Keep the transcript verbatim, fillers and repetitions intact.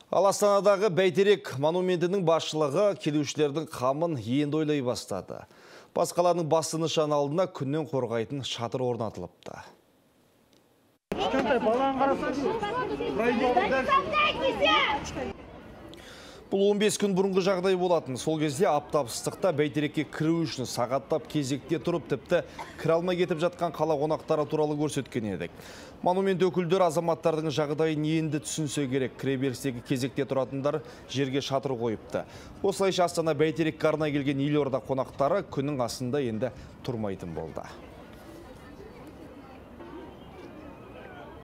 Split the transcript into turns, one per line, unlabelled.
Ал Астанадағы Бәйтерек монументінің басшылығы келушілердің қамын енді ойлай бастады. Бас қаланың басты нышаны алдына күннен қорғайтын шатыр орнатылыпты. Бұл он бес күн бұрынғы жағдай болатын. Сол кезде аптап ыстықта Бәйтерекке кіру үшін сағаттап кезекте тұрып, тіпті кіре алмай кетіп жатқан қала қонақтары туралы көрсеткен едік. Монумент өкілдері азаматтардың жағдайын енді түсінсе керек. Кіреберістегі кезекте тұратындар жерге шатыр қойыпты. Осылайша Астана Бәйтерекке арнай келген елорда қонақтары күннің астында енді тұрмайтын болды.